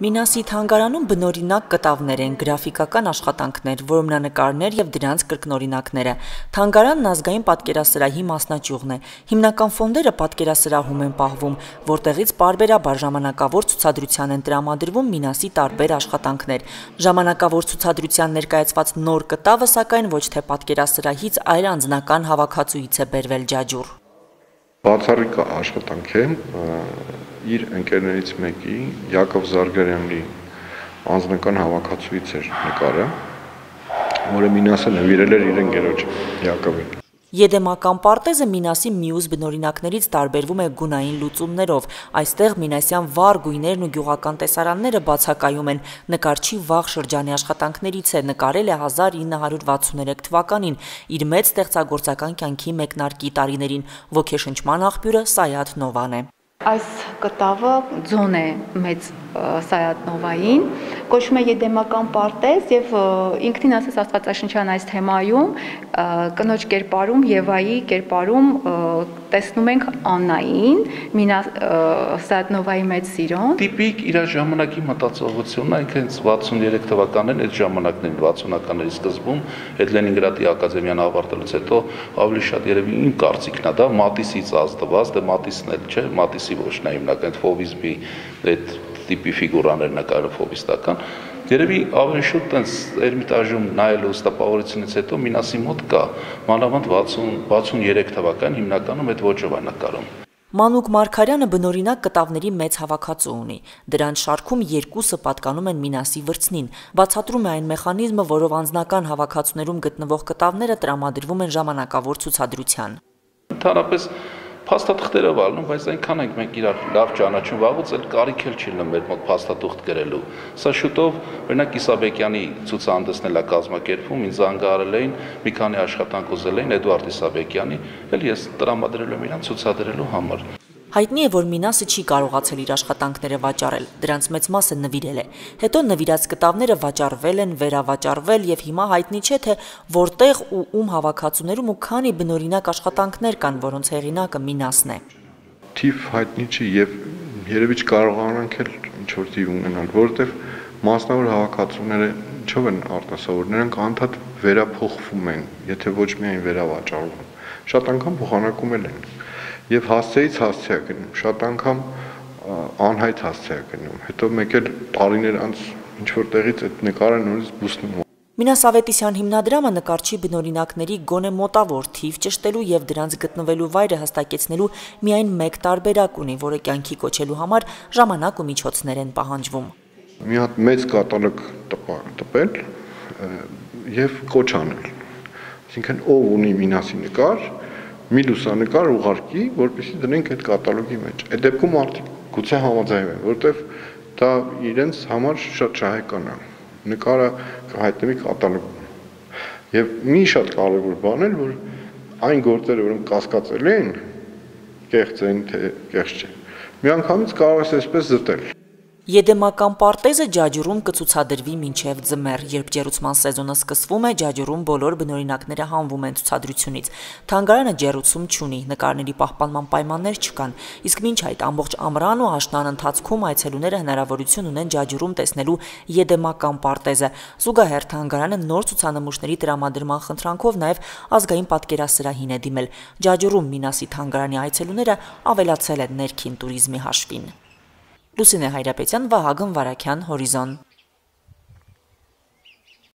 Մինասի թանգարանում բնօրինակ կտավներ են, գրաֆիկական աշխատանքներ, որմնանկարներ եւ դրանց կրկնօրինակները։ Թանգարանն ազգային պատկերասրահի մասնաճյուղն է։ Հիմնական ֆոնդերը պատկերասրահում են պահվում, որտեղից պարբերաբար ժամանակավոր ցուցադրության են տրամադրվում Մինասի տարբեր աշխատանքներ։ Ժամանակավոր ցուցադրության ներկայացված նոր կտավը, սակայն ոչ թե պատկերասրահից, այլ անձնական հավաքածուից է բերվել ջաջուր։ Բացառիկ աշխատանք է իր ընկերներից մեկի Յակով Զարգարյանի անձնական հավաքածուից էր նկարը, որը Մինասը նվիրել էր իր ընկերոջ Յակովին։ Եդեմական պարտեզը Մինասի մյուս բնօրինակներից տարբերվում է գունային լուծումներով։ Այստեղ մինասյան վառ գույներն ու գյուղական տեսարանները բացակայում են։ Նկարչի վաղ շրջանի աշխատանքներից է, նկարել է 1963 թվականին, իր մեծ ստեղծագործական կյանքի մեկնարկի տարիներին։ Ոգեշնչման աղբյուրը Սայաթ Նովան է։ Այս կտավը ձոն է մեծ Սայաթ Նովային, կոչվում է Եդեմական պարտեզ եւ ինքնին ասես աստվածաշնչյան այս թեմայում կնոջ կերպարում Եվայի կերպարում տեսնում ենք Աննային, Սայաթ Նովայի մեծ սիրոն։ Տիպիկ իր ժամանակի մտածողությունն է, ինքն 63 թվականն այդ ժամանակներին 60-ականների սկզբում այդ Լենինգրադի ակադեմիան ավարտելուց հետո ավելի շատ երևի իմ կարծիքն է դա Մատիսից ազդված, դե Մատիսն էլ չէ, Մատիսի ոչ նա հիմնական ֆովիզմի այդ տիպի ֆիգուրաներ նկարը ֆովիստական երևի ավելի շուտ տենց Էրմիտաժում նայելու ստապավորությունից հետո Մինասի մոտ կա մանավանդ 60-63 թվական հիմնականում այդ ոճով է նկարում։ Մանուկ Մարգարյանը բնօրինակ կտավների մեծ հավաքածու ունի։ Դրանց շարքում երկուսը պատկանում են Մինասի վրձնին։ Բացատրում է այն մեխանիզմը, որով անձնական հավաքածուներում գտնվող կտավները տրամադրվում են ժամանակավոր ցուցադրության։ Ընդհանրապես փաստաթղթերով ալնում, բայց այնքան ենք մենք իրար լավ ճանաչում, վաղուց էլ կարիք էլ չի մեր մոտ փաստաթուղթ գրելու։ Սա շուտով, օրինակ Իսաբեկյանի ցուցահանդեսն էլ է կազմակերպվում, ինձ զանգահարել էին, մի քանի աշխատանք ուզել էին Էդուարդ Իսաբեկյանի, էլ ես տրամադրել եմ իրան ցուցադրելու համար։ Հայտնի է, որ Մինասը չի կարողացել իր աշխատանքները վաճառել, դրանց մեծ մասը նվիրել է։ Հետո նվիրած կտավները վաճառվել են, վերավաճառվել եւ հիմա հայտնի չէ, թե որտեղ ու ում հավաքածուներում ու քանի բնօրինակ աշխատանքներ կան, որոնց հեղինակը Մինասն է։ Թիվ հայտնի չի եւ երևի չկարողանանք էլ ինչ-որ թիվ ունենալ, որովհետեւ մասնավոր հավաքածուները ինչով են արտասովոր, նրանք անդադ վերափոխվում են, եթե ոչ միայն վերավաճառվում։ Շատ անգամ փոխանակում են։ Եվ հասցեից հասցե է գնում, շատ անգամ անհայտ հասցե է գնում, հետո մեկ էլ տարիներ անց ինչ-որ տեղից այդ նկարը նորից բուսնում։ Մինաս Ավետիսյան հիմնադրամը նկարչի բնօրինակների գոնե մոտավոր թիվ ճշտելու եւ դրանց գտնվելու վայրը հստակեցնելու միայն մեկ տարբերակ ունի, որը կյանքի կոչելու համար ժամանակ ու միջոցներ են պահանջվում։ Մի հատ մեծ կատալոգ տպել եւ կոչ անել։ Այսինքն ով ունի Մինասի նկար, մի լուսանկար ուղարկի, որպեսզի դնենք այդ կատալոգի մեջ։ Այդ դեպքում մարդիկ գուցե համաձայնվեն, որովհետև դա իրենց համար շատ շահեկան է։ Նկարը կհայտնվի կատալոգում։ Եվ մի շատ կարևոր բան է, որ այն գործերը, որոնք կասկածելի են, կեղծ են, թե կեղծ չեն, միանգամից կարող ես այսպես զտել։ Եդեմական պարտեզը ջաջուրում կցուցադրվի մինչև ձմեռ, երբ ջեռուցման սեզոնը սկսվում է, ջաջուրում բոլոր բնօրինակները հանվում են ցուցադրությունից։ Թանգարանը ջեռուցում չունի, նկարների պահպանման պայմաններ չկան, իսկ մինչ այդ ամբողջ ամռան ու աշնան ընթացքում այցելուները հնարավորություն ունեն ջաջուրում տեսնելու Եդեմական պարտեզը։ Զուգահեռ թանգարանը նոր ցուցանմուշների տրամադրման խնդրանքով նաև ազգային պատկերասրահին է դիմել։ Ջաջուրում Մինասի թանգարանի այցելուները ավելացել են ներքին տուրիզմի հաշվին։ Լուսինե Հայրապետյան, Վահագն Վարագյան, Հորիզոն։